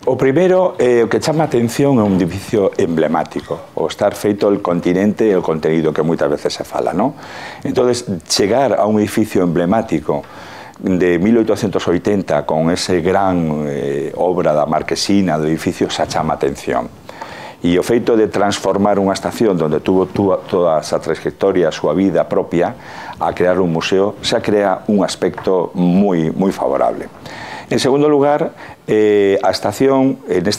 O primeiro, o que chama a atención é un edificio emblemático, o estar feito el continente e o conteúdo que moitas veces se fala, non? Entón, chegar a un edificio emblemático de 1880 con ese gran obra da Marquesina do edificio xa chama a atención. E o feito de transformar unha estación onde tuvo toda a súa trayectoria, a súa vida propia, a crear un museo, xa crea un aspecto moi favorable. En segundo lugar, nesta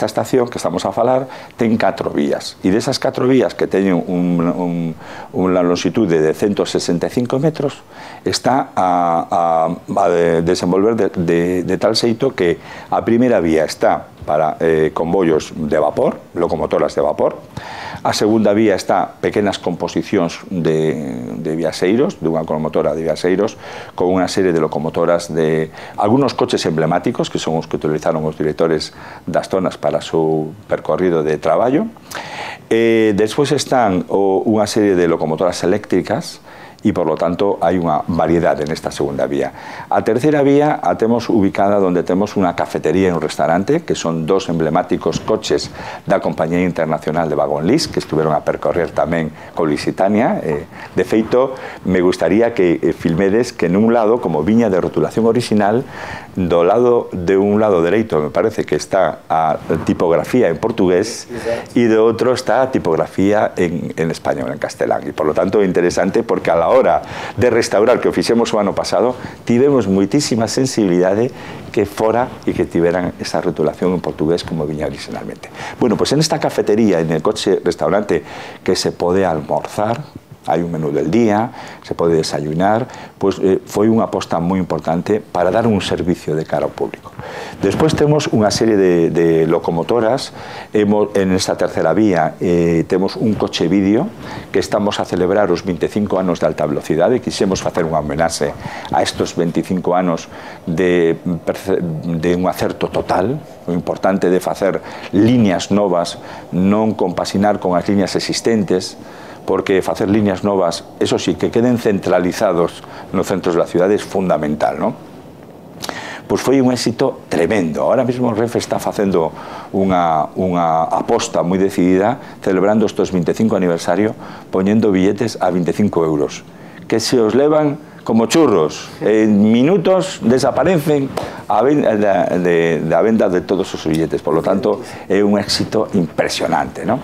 estación que estamos a falar, ten 4 vías. E desas 4 vías que teñen unha longitude de 165 metros, está a desenvolver de tal xeito que a primeira vía está para convoios de vapor, locomotoras de vapor. A segunda vía está pequenas composicións de viaxeiros, dunha locomotora de viaxeiros, con unha serie de locomotoras de algunos coches emblemáticos, que son os que utilizaron os directores das zonas para o seu percorrido de traballo. Despois están unha serie de locomotoras eléctricas, e, por lo tanto, hai unha variedade nesta segunda vía. A terceira vía a temos ubicada onde temos unha cafetería e un restaurante, que son 2 emblemáticos coches da Compañía Internacional de Vagón Lis, que estuveron a percorrer tamén con Lusitania. De feito, me gustaría que filmedes que nun lado, como viña de rotulación original, de un lado dereito, me parece que está a tipografía en portugués, e do outro está a tipografía en español, en castelán. E, por lo tanto, é interesante porque a la hora de restaurar, que o fixemos o ano pasado, tivemos moitísima sensibilidade que fora e que tiveran esa rotulación en portugués como viña originalmente. Bueno, pues en esta cafetería, en el coche restaurante, que se pode almorzar, hai un menú del día, se pode desayunar, pues foi unha aposta moi importante para dar un servicio de cara ao público. Despois temos unha serie de locomotoras. En esta terceira vía temos un coche vídeo que estamos a celebrar os 25 anos de alta velocidade, e quixemos facer unha homenaxe a estos 25 anos de un acerto total, o importante de facer líneas novas, non compasinar con as líneas existentes, porque facer líneas novas, eso sí, que queden centralizados nos centros da cidade é fundamental, non? Pois foi un éxito tremendo. Ahora mesmo o Renfe está facendo unha aposta moi decidida, celebrando estes 25 aniversario, poñendo billetes a 25 euros, que se os levan como churros. En minutos desaparecen a venda de todos os billetes. Por lo tanto, é un éxito impresionante, non?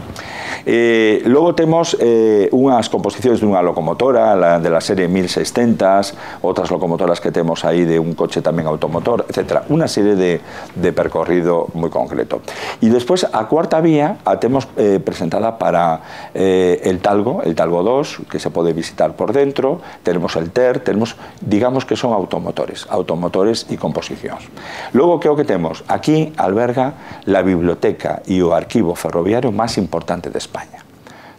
Logo temos unhas composicións dunha locomotora de la serie 1600, outras locomotoras que temos aí de un coche tamén automotor, etc. Unha serie de percorrido moi concreto. E despois a cuarta vía a temos presentada para el Talgo 2, que se pode visitar por dentro. Tenemos el TER, tenemos, digamos que son automotores e composicións. Logo, que é o que temos? Aquí alberga la biblioteca e o arquivo ferroviario máis importante de España.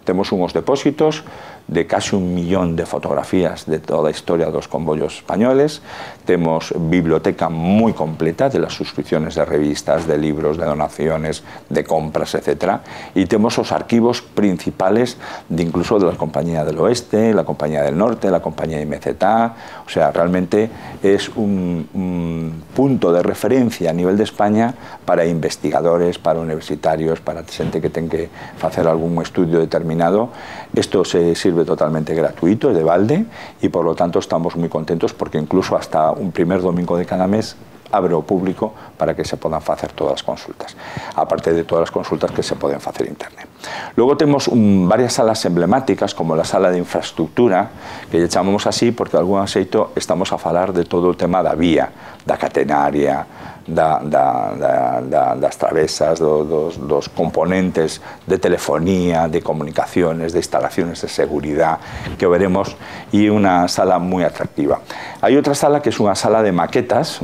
Temos unhos depósitos de casi 1 millón de fotografías de toda a historia dos convoyos españoles. Temos biblioteca moi completa de las suscripciones de revistas, de libros, de donaciones, de compras, etc. E temos os arquivos principales incluso de la Compañía del Oeste, la Compañía del Norte, la Compañía MZA. O sea, realmente es un punto de referencia a nivel de España para investigadores, para universitarios, para xente que ten que facer algún estudio determinado. Esto se sirve totalmente gratuito, de balde, y por lo tanto estamos muy contentos porque incluso hasta un primer domingo de cada mes abre ao público para que se podan facer todas as consultas, aparte de todas as consultas que se poden facer internet. Logo temos varias salas emblemáticas, como la sala de infraestructura, que lle chamamos así porque de algún xeito estamos a falar de todo o tema da vía, da catenaria, das travesas, dos componentes de telefonía, de comunicaciones, de instalaciones de seguridad, que veremos, e unha sala moi atractiva. Hai outra sala que é unha sala de maquetas,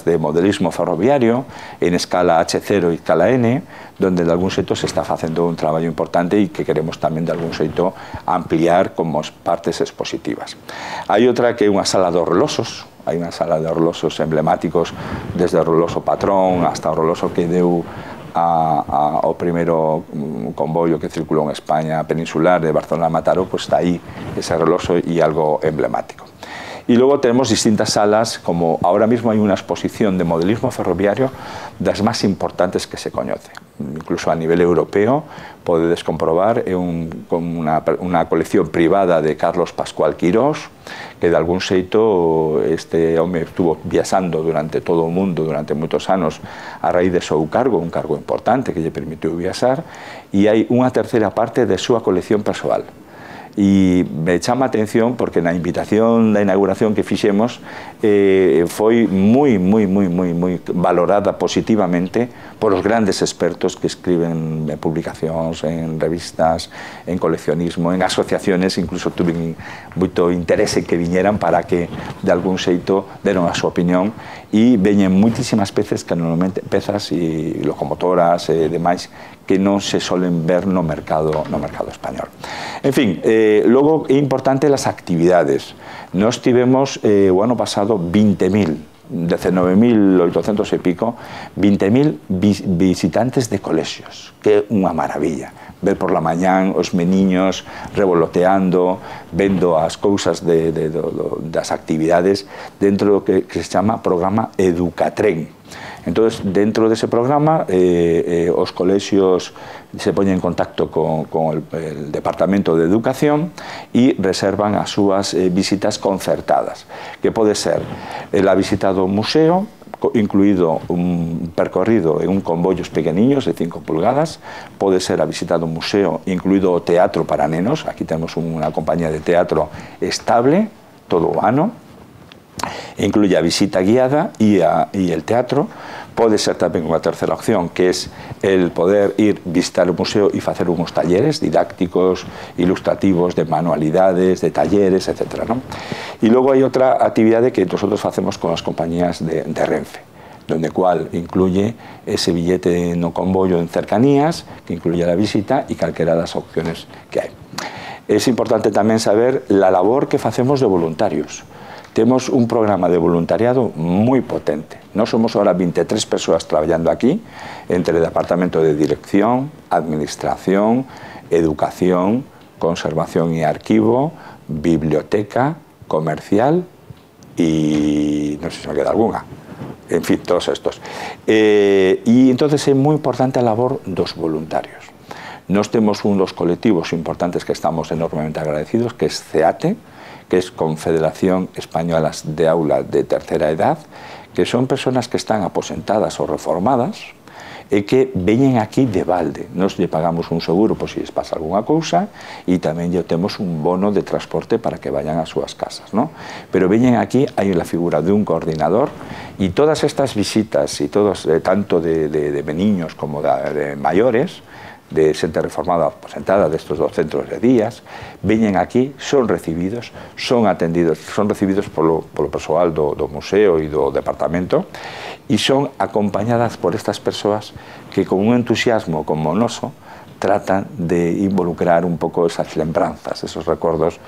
de modelismo ferroviario, en escala H0 e escala N, donde de algún xeito se está facendo un traballo importante e que queremos tamén de algún xeito ampliar como partes expositivas. Hai outra que é unha sala de orlosos. Hai unha sala de orlosos emblemáticos, desde o orloso Patrón hasta o orloso que deu ao primeiro convoio que circulou en España peninsular de Barcelona a Mataró, pues está aí ese orloso e algo emblemático. Y luego tenemos distintas salas, como ahora mismo hay una exposición de modelismo ferroviario de las más importantes que se conoce. Incluso a nivel europeo podedes comprobar una colección privada de Carlos Pascual Quirós, que de algún xeito este home estuvo viaxando durante todo o mundo durante moitos anos a raíz de seu cargo, un cargo importante que lle permitiu viaxar, e hai unha terceira parte de súa colección persoal. E me chama a atención porque na invitación da inauguración que fixemos foi moi valorada positivamente por os grandes expertos que escriben en publicacións, en revistas, en coleccionismo, en asociaciones, incluso tuve moito interese que viñeran para que de algún xeito deron a súa opinión, e veñen moitísimas pezas que normalmente pezas e locomotoras e demais que non se solen ver no mercado español. En fin, logo é importante las actividades. Nos tivemos o ano pasado 19.800 e pico, 20.000 visitantes de colexios, que é unha maravilla. Ver por la mañán os meniños revoloteando, vendo as cousas das actividades dentro do que se chama programa Educatren. Entonces, dentro dese programa, os colexios se poñen en contacto con el Departamento de Educación e reservan as súas visitas concertadas, que pode ser a visita do museo, incluído un percorrido en un convollos pequeniños de 5 pulgadas, pode ser a visita do museo, incluído o teatro para nenos. Aquí temos unha compañía de teatro estable todo o ano, incluye a visita guiada e el teatro. Pode ser tamén unha terceira opción, que é el poder ir visitar o museo e facer uns talleres didácticos, ilustrativos, de manualidades, de talleres, etc. E logo hai outra actividade que nosotros facemos con as compañías de Renfe, donde cual incluye ese billete no convollo en cercanías, que incluye la visita e calquera das opciones que hai. Es importante tamén saber la labor que facemos de voluntarios. Temos un programa de voluntariado moi potente. Nós somos ahora 23 persoas traballando aquí, entre Departamento de Dirección, Administración, Educación, Conservación e Arquivo, Biblioteca, Comercial e non sei se me queda alguna. En fin, todos estos. E entonces é moi importante a labor dos voluntarios. Nós temos un dos colectivos importantes que estamos enormemente agradecidos, que é CEATE, que es Confederación Española de Aula de Tercera Edad, que son personas que están aposentadas ou reformadas e que veñen aquí de balde. Nos lle pagamos un seguro por si les pasa alguna cousa e tamén lle temos un bono de transporte para que vayan ás súas casas, ¿no? Pero veñen aquí, hai la figura de un coordinador e todas estas visitas, e todos, tanto de niños como de maiores, de xente reformada aposentada destes dos centros de días, veñen aquí, son recibidos, son atendidos, son recibidos polo persoal do museo e do departamento e son acompañadas por estas persoas que con un entusiasmo como o noso tratan de involucrar un pouco esas lembranzas, esos recordos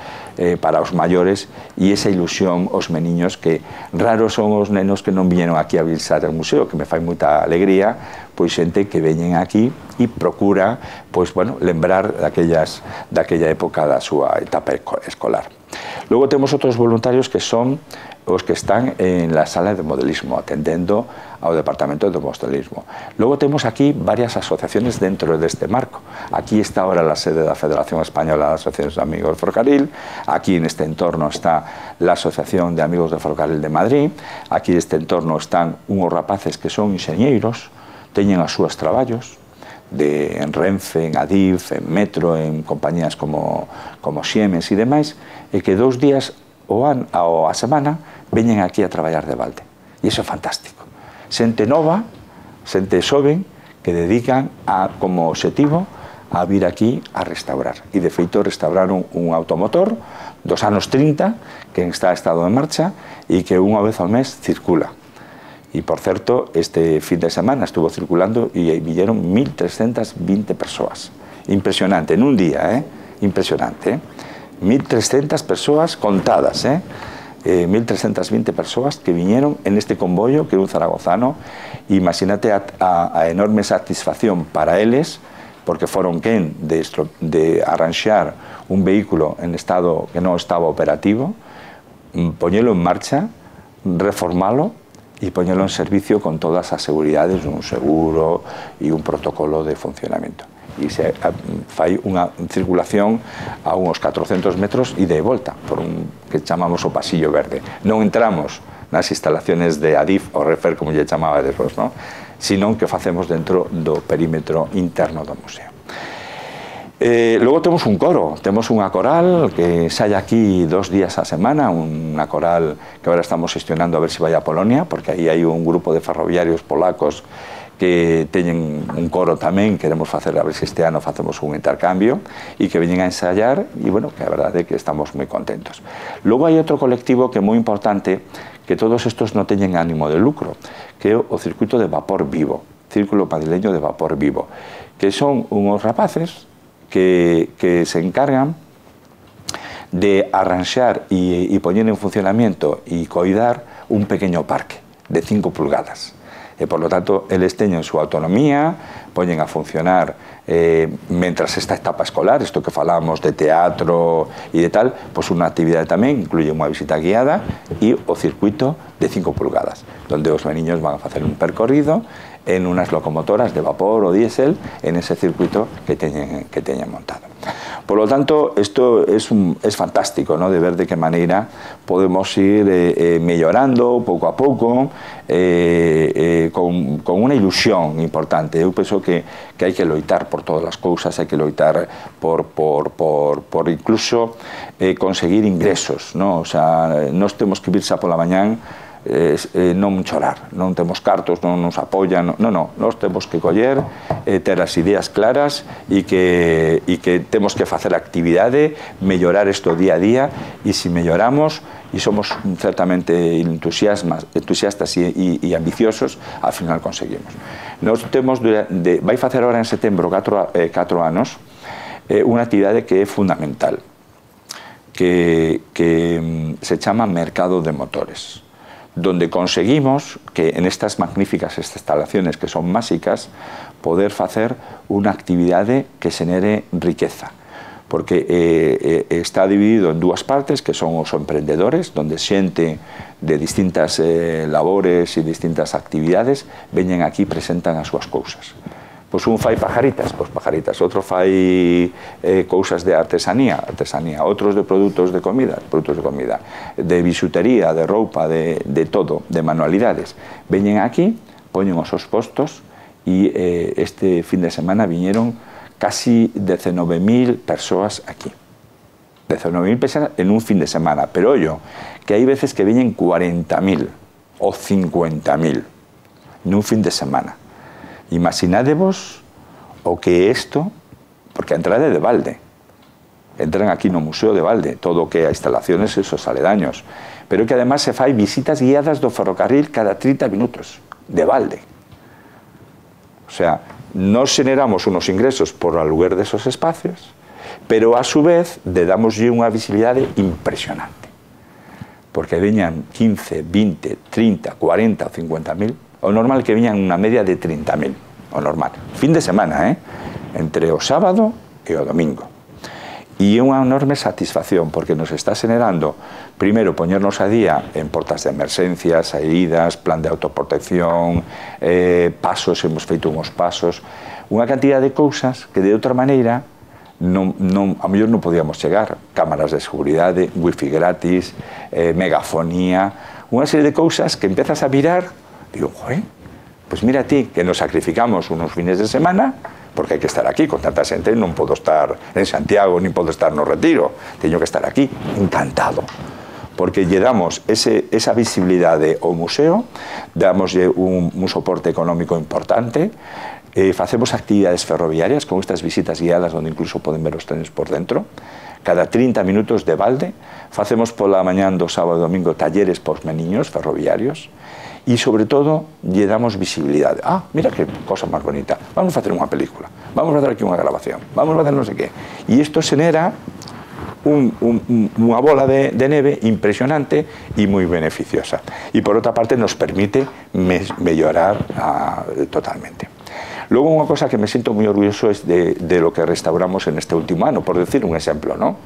para os maiores e esa ilusión aos meniños, que raros son os nenos que non viñeron aquí a visitar o museo, que me fai moita alegría, pois xente que veñen aquí e procura, pois, bueno, lembrar daquella época da súa etapa escolar. Logo temos outros voluntarios que son os que están en la sala de modelismo, atendendo ao Departamento de Modelismo. Logo temos aquí varias asociaciones dentro deste marco. Aquí está ahora la sede da Federación Española de Asociaciones de Amigos del Ferrocarril, aquí en este entorno está la Asociación de Amigos del Ferrocarril de Madrid, aquí en este entorno están unhos rapaces que son enxeñeiros, teñen as súas traballos, en Renfe, en Adif, en Metro, en compañías como Siemens e demais, e que 2 días a semana veñen aquí a traballar de balde. E iso é fantástico. Xente nova, xente xoven, que dedican como objetivo a vir aquí a restaurar. E de feito restauraron un automotor dos anos 30 que está en estado de marcha e que unha vez ao mes circula. E, por certo, este fin de semana estuvo circulando e viñeron 1.320 persoas. Impresionante, en un día, impresionante, 1.300 persoas contadas, 1.320 persoas que viñeron en este convoio, que é un zaragozano. Imagínate a enorme satisfacción para eles, porque foron quen de arranxar un vehículo en estado que non estaba operativo, poñelo en marcha, reformalo e poñelo en servicio con todas as seguridades, un seguro e un protocolo de funcionamento. E se fai unha circulación a uns 400 metros e de volta, por un que chamamos o pasillo verde. Non entramos nas instalaciones de Adif ou Refer, como lle chamaba despois, non? Sino que facemos dentro do perímetro interno do museo. Logo temos un coro, temos unha coral que sai aquí 2 días a semana, unha coral que agora estamos gestionando a ver se vai a Polonia, porque aí hai un grupo de ferroviarios polacos que teñen un coro tamén, queremos facer, a ver se este ano facemos un intercambio, e que veñen a ensayar, e bueno, que a verdade é que estamos moi contentos. Logo hai outro colectivo que é moi importante, que todos estos non teñen ánimo de lucro, que é o Circuito de Vapor Vivo, Círculo Madrileño de Vapor Vivo, que son unhos rapaces que se encargan de arranxar e poñer en funcionamiento e coidar un pequeño parque de 5 pulgadas. E, por lo tanto, eles teñen súa autonomía, poñen a funcionar mentras esta etapa escolar, isto que falamos de teatro e de tal, pois unha actividade tamén, incluye unha visita guiada e o circuito de 5 pulgadas, donde os meniños van a facer un percorrido en unas locomotoras de vapor o diésel en ese circuito que teñen montado. Por lo tanto, esto es fantástico, ¿no?, de ver de que maneira podemos ir mellorando pouco a pouco, con unha ilusión importante. Eu penso que hai que loitar por todas as cousas, hai que loitar por incluso conseguir ingresos, ¿no? O sea, nós temos que vir xa pola mañán non chorar, non temos cartos, non nos apoian, non, nós temos que coller, ter as ideas claras e que temos que facer actividade, mellorar isto día a día, e se melloramos e somos certamente entusiastas e ambiciosos, ao final conseguimos. Nós temos, vai facer ahora en setembro 4 anos, unha actividade que é fundamental, que se chama Mercado de Motores, donde conseguimos que en estas magníficas instalaciones que son básicas poder facer unha actividade que xenere riqueza, porque está dividido en 2 partes, que son os emprendedores, donde xente de distintas labores e distintas actividades veñen aquí e presentan as súas cousas. Pois un fai pajaritas, outro fai cousas de artesanía, outros de produtos de comida, de bisutería, de roupa, de todo, de manualidades. Veñen aquí, poñen os seus postos e este fin de semana viñeron casi 19.000 persoas aquí. 19.000 persoas en un fin de semana, pero ollo, que hai veces que viñen 40.000 ou 50.000 nun fin de semana. Imaginádevos o que é isto, porque a entrada é de balde. Entran aquí no Museo de Balde, todo o que a instalaciones e esos aledaños. Pero que además se fai visitas guiadas do ferrocarril cada 30 minutos, de balde. O sea, nos generamos unos ingresos por aluguer desos espacios, pero a su vez le damoslle unha visibilidade impresionante. Porque veñan 15, 20, 30, 40 ou 50.000, o normal que viñan unha media de 30.000, o normal. Fin de semana, entre o sábado e o domingo. E é unha enorme satisfacción, porque nos está generando, primeiro, poñernos a día en portas de emerxencia, saídas, plan de autoprotección, pasos, hemos feito uns pasos, unha cantidad de cousas que de outra maneira a mellor non podíamos chegar. Cámaras de seguridade, wifi gratis, megafonía, unha serie de cousas que empezas a mirar. Digo, pues mira ti, que nos sacrificamos unos fines de semana, porque hai que estar aquí con tanta xente, non podo estar en Santiago, nin podo estar no Retiro, teño que estar aquí, encantado, porque lle damos esa visibilidade ao museo, damoslle un soporte económico importante, facemos actividades ferroviarias con estas visitas guiadas, onde incluso poden ver os trenes por dentro, cada 30 minutos de balde, facemos pola mañán do sábado e domingo talleres pos meniños ferroviarios, e, sobre todo, lle damos visibilidade. Mira que cosa máis bonita, vamos a facer unha película, vamos a facer aquí unha grabación, vamos a facer non sei que. E isto xenera unha bola de neve impresionante e moi beneficiosa. E, por outra parte, nos permite mellorar totalmente. Logo, unha cosa que me siento moi orgulloso es de lo que restauramos en este último ano, por decir un exemplo, ¿no?,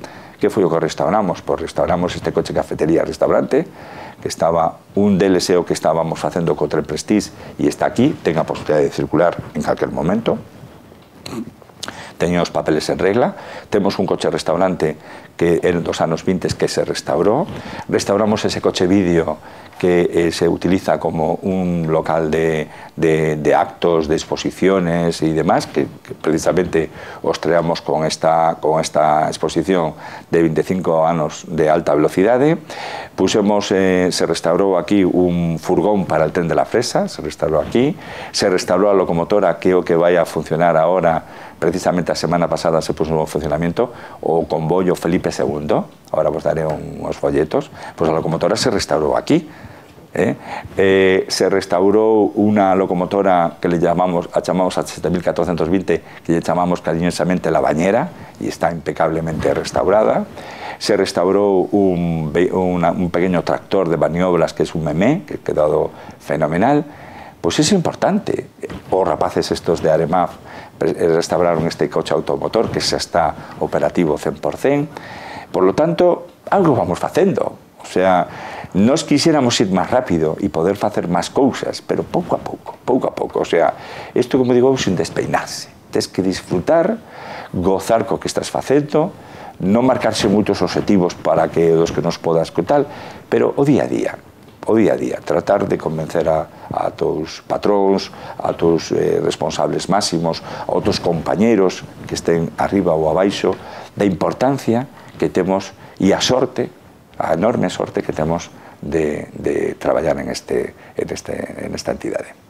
que foi o que restauramos? Pois restauramos este coche cafetería-restaurante, que estaba un DLC que estábamos facendo co Tren Prestige e está aquí, ten a posibilidade de circular en calquer momento. Teñen os papeles en regla. Temos un coche restaurante que en dos anos 20 que se restaurou. Restauramos ese coche vídeo que se utiliza como un local de actos, de exposiciones y demás, que precisamente os traemos con esta exposición de 25 anos de alta velocidade. Pusemos, se restaurou aquí un furgón para el tren de la Fresa, se restaurou aquí, se restaurou a locomotora que é o que vai a funcionar ahora. Precisamente a semana pasada se puso en funcionamiento o convoyo Felipe II, ahora vos daré unos folletos, pues la locomotora se restauró aquí. Se restauró una locomotora que le llamamos a 7420, que le llamamos cariñosamente la bañera, y está impecablemente restaurada. Se restauró un pequeño tractor de maniobras que es un Memé, que ha quedado fenomenal. Pues es importante. Os rapaces estos de Aremaf restauraron este coche automotor que xa está operativo 100%. Por lo tanto, algo vamos facendo. O sea, nos quisiéramos ir máis rápido e poder facer máis cousas, pero pouco a pouco, pouco a pouco. O sea, isto, como digo, sin despeinarse. Tens que disfrutar, gozar co que estás facendo, non marcarse moitos objetivos para que os que nos podas que tal, pero o día a día, tratar de convencer a tus patróns, a tus responsables máximos, a outros compañeros que estén arriba ou abaixo, da importancia que temos e a sorte, a enorme sorte que temos de traballar en esta entidade.